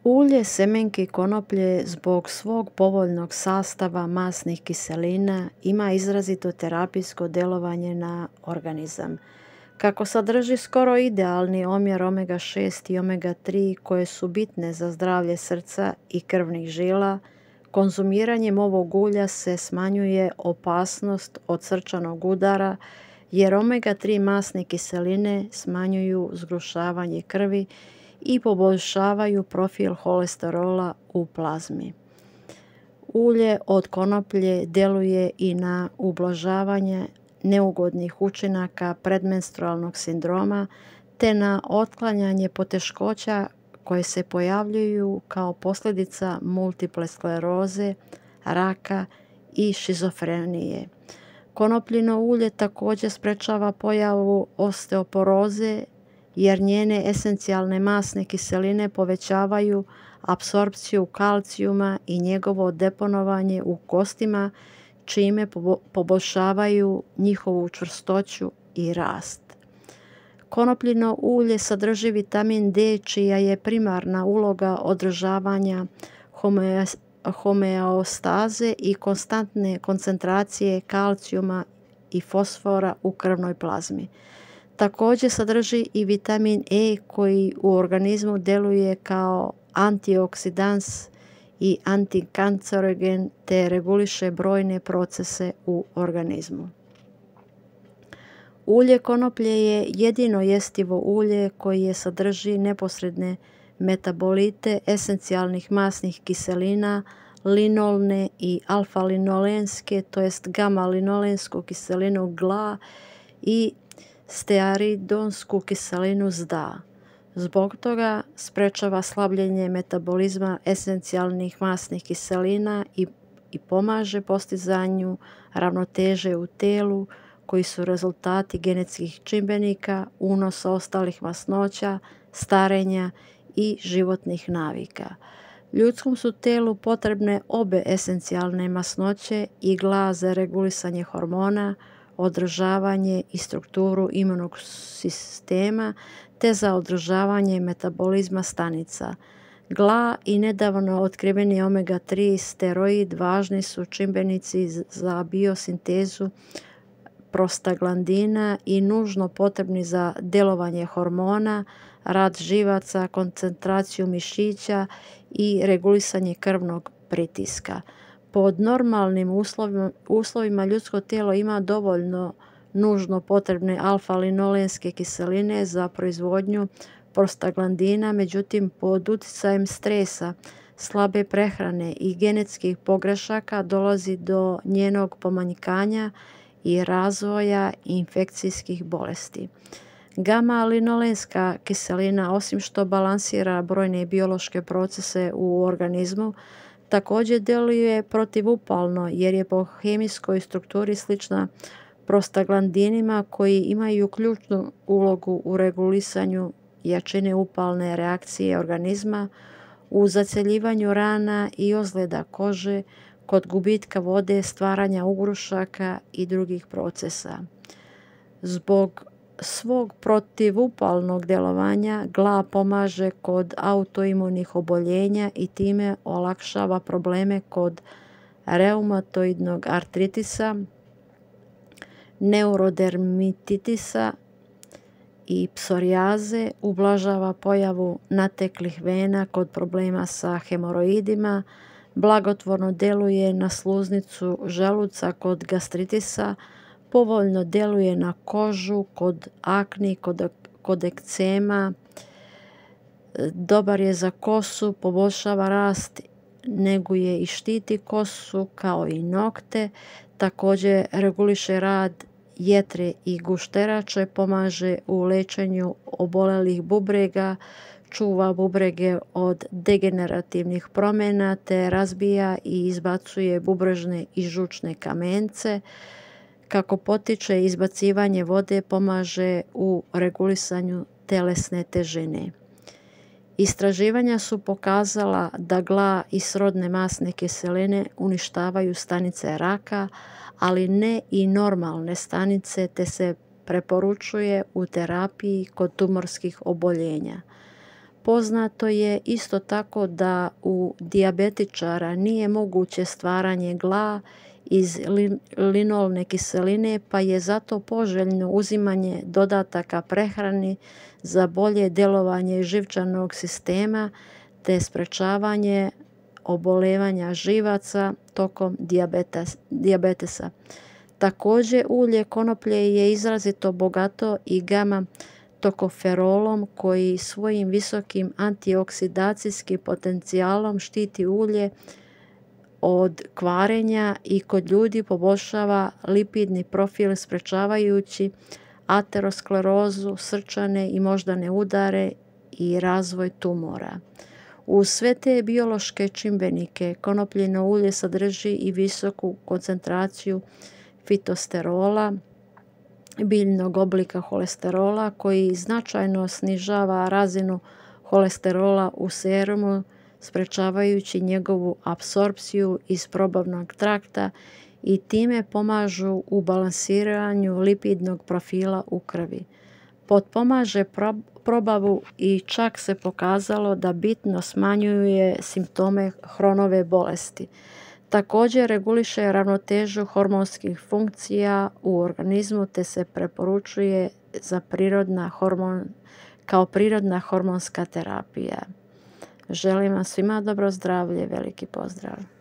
Ulje semenke konoplje zbog svog povoljnog sastava masnih kiselina ima izrazito terapijsko djelovanje na organizam. Kako sadrži skoro idealni omjer omega-6 i omega-3 koje su bitne za zdravlje srca i krvnih žila, konzumiranjem ovog ulja se smanjuje opasnost od srčanog udara jer omega-3 masne kiseline smanjuju zgrušavanje krvi i poboljšavaju profil holesterola u plazmi. Ulje od konoplje djeluje i na ublažavanje neugodnih učinaka predmenstrualnog sindroma te na otklanjanje poteškoća koje se pojavljuju kao posljedica multiple skleroze, raka i šizofrenije. Konopljino ulje također sprečava pojavu osteoporoze jer njene esencijalne masne kiseline povećavaju apsorpciju kalcijuma i njegovo deponovanje u kostima, čime poboljšavaju njihovu čvrstoću i rast. Konopljino ulje sadrži vitamin D, čija je primarna uloga održavanja homeostaze i konstantne koncentracije kalcijuma i fosfora u krvnoj plazmi. Također sadrži i vitamin E koji u organizmu djeluje kao antioksidans i antikancerogen te reguliše brojne procese u organizmu. Ulje konoplje je jedino jestivo ulje koje sadrži neposredne metabolite esencijalnih masnih kiselina, linolne i alfa-linolenske, to jest gamma-linolensku kiselinu GLA i stearidonsku kiselinu ZDA. Zbog toga sprečava slabljenje metabolizma esencijalnih masnih kiselina i pomaže postizanju ravnoteže u telu koji su rezultati genetskih čimbenika, unosa ostalih masnoća, starenja i životnih navika. Ljudskom su telu potrebne obe esencijalne masnoće i GLA za regulisanje hormona, održavanje i strukturu imunog sistema te za održavanje metabolizma stanica. GLA i nedavno otkriveni omega-3 steroid važni su čimbenici za biosintezu prostaglandina i nužno potrebni za djelovanje hormona, rad živaca, koncentraciju mišića i regulisanje krvnog pritiska. Pod normalnim uslovima ljudsko tijelo ima dovoljno nužno potrebne alfa-linolenske kiseline za proizvodnju prostaglandina, međutim pod utjecajem stresa, slabe prehrane i genetskih pogrešaka dolazi do njenog pomanjkanja i razvoja infekcijskih bolesti. Gamma-linolenska kiselina, osim što balansira brojne biološke procese u organizmu, također djeluje protivupalno jer je po hemijskoj strukturi slična prostaglandinima koji imaju ključnu ulogu u regulisanju jačine upalne reakcije organizma, u zacjeljivanju rana i ozljeda kože, kod gubitka vode, stvaranja ugrušaka i drugih procesa. Zbog svog protivupalnog djelovanja GLA pomaže kod autoimunih oboljenja i time olakšava probleme kod reumatoidnog artritisa, neurodermititisa i psorijaze, ublažava pojavu nateklih vena kod problema sa hemoroidima, blagotvorno djeluje na sluznicu želuca kod gastritisa, povoljno djeluje na kožu kod akni, kod ekcema, dobar je za kosu, poboljšava rast, neguje i štiti kosu kao i nokte, također reguliše rad jetre i gušterače, pomaže u lečenju obolelih bubrega, čuva bubrege od degenerativnih promjena te razbija i izbacuje bubrežne i žučne kamence. Kako potiče izbacivanje vode, pomaže u regulisanju telesne težine. Istraživanja su pokazala da GLA i srodne masne kiseline uništavaju stanice raka, ali ne i normalne stanice, te se preporučuje u terapiji kod tumorskih oboljenja. Poznato je isto tako da u dijabetičara nije moguće stvaranje gla iz linolne kiseline, pa je zato poželjno uzimanje dodataka prehrani za bolje djelovanje živčanog sistema te sprečavanje oboljevanja živaca tokom dijabetesa. Također, ulje konoplje je izrazito bogato i gama tokoferolom koji svojim visokim antioksidacijskim potencijalom štiti ulje od kvarenja i kod ljudi poboljšava lipidni profil sprečavajući aterosklerozu, srčane i moždane udare i razvoj tumora. Uz sve te biološke čimbenike konopljino ulje sadrži i visoku koncentraciju fitosterola, biljnog oblika holesterola koji značajno snižava razinu holesterola u serumu, sprečavajući njegovu apsorpciju iz probavnog trakta i time pomažu u balansiranju lipidnog profila u krvi. Potpomaže probavu i čak se pokazalo da bitno smanjuje simptome Chronove bolesti. Također reguliše ravnotežu hormonskih funkcija u organizmu te se preporučuje kao prirodna hormonska terapija. Želim vam svima dobro zdravlje, veliki pozdrav!